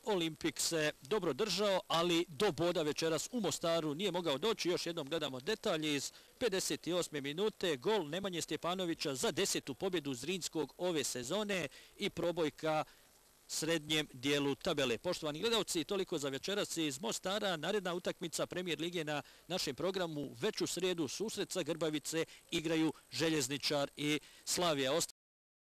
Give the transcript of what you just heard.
Olimpik se dobro držao, ali do boda večeras u Mostaru nije mogao doći. Još jednom gledamo detalje iz 58. minute. Gol Nemanje Stjepanovića za 10. pobjedu Zrinskog ove sezone i probojka srednjem dijelu tabele. Poštovani gledalci, toliko za večeras iz Mostara. Naredna utakmica Premijer lige na našem programu već u srijedu. Susret sa Grbavice igraju Željezničar i Slavija.